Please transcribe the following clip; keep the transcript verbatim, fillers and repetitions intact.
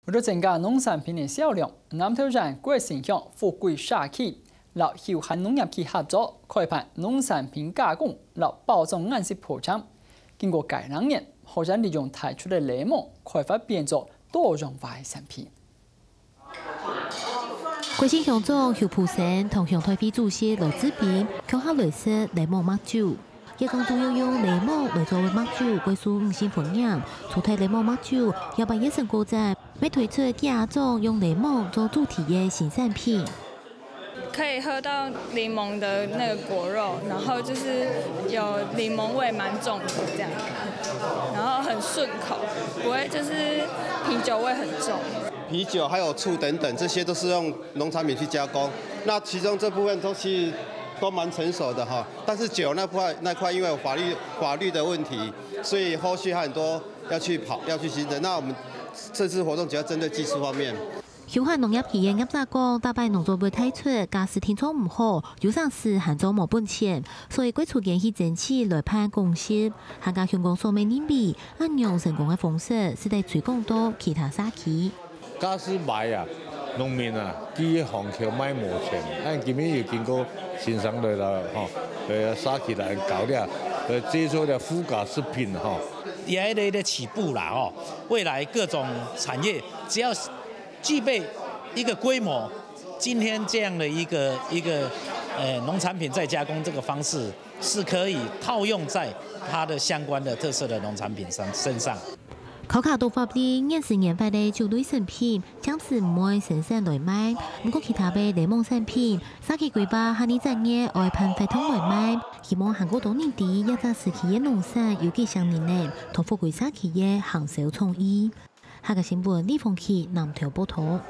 為著增加農產品个銷量，南投縣國姓鄉福貴社區摎休閒農業區合作，開辦農產品加工摎包裝研習課程。經過該兩年，學生利用提出个檸檬開發變做多樣化个產品。國姓鄉長邱普生同鄉代會主席羅志斌共下來食檸檬麥酒。 這種主要用檸檬來做个麥酒，會受五星歡迎。除忒檸檬麥酒，這擺也成果展，乜推出幾下種用檸檬做主題个新產品。可以喝到檸檬的那个果肉，然后就是有檸檬味蛮重的这样，然后很顺口，不会就是啤酒味很重。啤酒还有醋等等，这些都是用农产品去加工。那其中这部分都其实都蛮成熟的哈，但是酒那块那块因为有法律法律的问题，所以后续还很多要去跑要去行政。那我们这次活动主要针对技术方面。 休閒農業企業業者講，逐擺農作物推出，假使定著毋好，有成時還做無本錢，所以過初間去爭取來辦公室。客家鄉公所乜認為，恁樣成功个方式，使得推廣到其他社區。假使買啊，農民啊，佢个行口賣無錢，恁今日有經過先生來啦，吼，呃，社區來搞了，呃，製作了附加食品吼。也一个一个起步啦，吼，未来各种产业只要 具备一个规模，今天这样的一个一个呃农产品再加工这个方式，是可以套用在它的相关的特色的农产品上身上。考卡多法律，原始研發个酒類產品，暫時毋會生產來賣。毋過其他个檸檬產品，社區規劃下二十月愛辦活動來賣，希望還過多人知這隻時期个農產有幾像人呢，同福貴社區个行銷創意。 客家新聞李鳳琪南投報導。